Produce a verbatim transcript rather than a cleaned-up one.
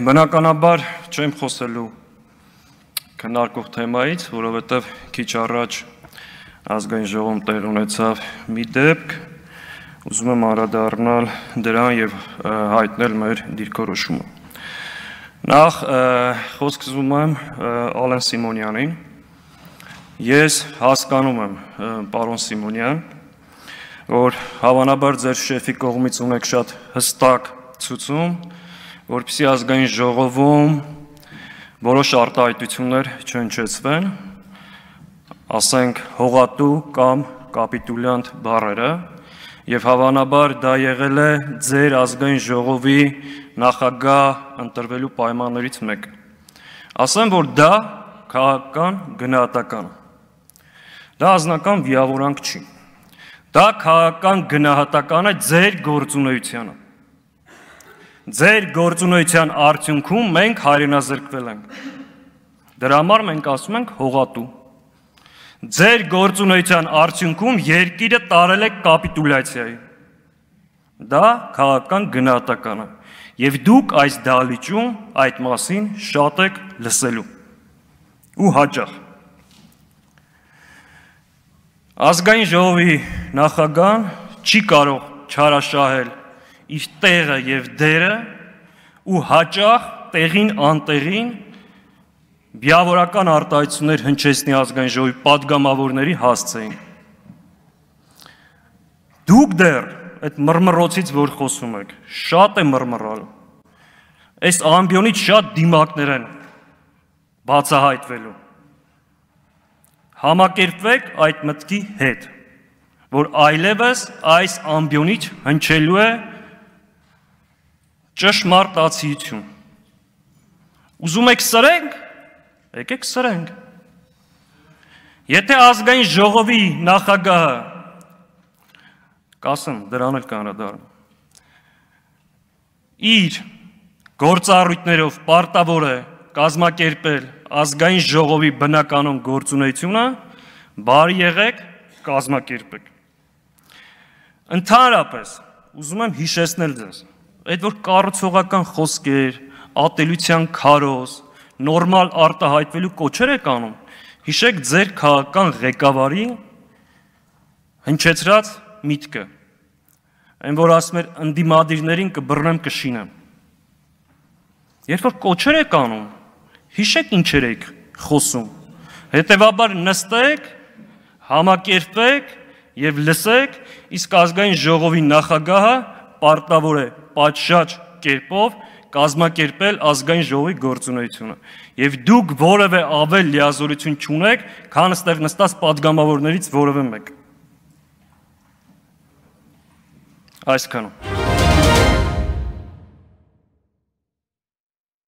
Բնականաբար չեմ խոսելու քննարկող թեմայից, որովհետև քիչ առաջ ազգային ժողովում տեղ ունեցավ մի դեպք, ուզում եմ անդրադառնալ դրան եւ հայտնել մեր դիրքորոշումը։ Նախ խոսք ուզում եմ Ալեն Սիմոնյանին։ Ես հասկանում եմ, պարոն Սիմոնյան, որ հավանաբար ձեր շեֆի կողմից ունեք շատ հստակ ցուցում, որպեսզի ազգային ժողովում որոշ արտահայտություններ չհնչեցվեն, ասենք հողատու կամ կապիտուլյանտ բառերը, եւ հավանաբար դա եղել է ձեր ազգային ժողովի նախագահ ընտրվելու պայմաններից մեկը։ Ասեմ, որ դա քաղաքական գնահատական է։ Դա անձնական վիավորանք չի։ Դա քաղաքական գնահատական է ձեր գործունեությանը։ Ձեր գործունեության արդյունքում մենք հայրենազրկվել ենք։ Դրա համար մենք ասում ենք հողատու։ Ձեր գործունեության արդյունքում երկիրը տարել է կապիտուլյացիայի։ Դա քաղաքական գնահատական է։ Եվ դուք այս դահլիճում այդ մասին շատ եք լսելու։ Ու հաճախ։ Ազգային ժողովի նախագահան չի կարող չարաշահել իր տեղը եւ դերը ու հաճախ տեղին անտեղին վիավորական արտահայտություններ հնչեցնի ազգային ժողովի падգամավորների հասցեին։ Դուք դեռ այդ մռմռոցից որ խոսում եք, շատ է մռմռալ։ Այս ամբիոնից շատ դիմակներ են բացահայտվելու։ Համակերպվեք այդ մտքի հետ, որ այլևս այս ամբիոնից հնչելու է ճշմարտացիություն։ Ուզում եք սրենք, եկեք սրենք։ Եթե ազգային ժողովի նախագահը, կասեմ, դրան էլ կանրադառնամ, իր գործառույթներով պարտավոր է կազմակերպել ազգային ժողովի բնականոն գործունեությունը, բարի եղեք, կազմակերպեք։ Ընդհանրապես, ուզում եմ հիշեցնել ձեզ, այդ որ կառուցողական խոսքեր, ատելության քարոզ, նորմալ արտահայտվելու կոչեր եք անում, հիշեք ձեր քաղաքական ղեկավարի հնչեցրած միտքը, այն որ ասում էր ընդդիմադիրներին կբռնեմ կշինեմ։ Երբ որ կոչեր եք անում, հիշեք ինչեր եք խոսում, հետևաբար նստեք, համակերպեք և լսեք, իսկ ազգային ժողովի նախագահը պարտավոր է պատշաճ կերպով կազմակերպել ազգային ժողովի գործունեությունը։ Եվ դուք որևէ ավել լիազորություն չունեք, քան ստեղ նստած падգամավորներից որևէ մեկ։ Այսքանը։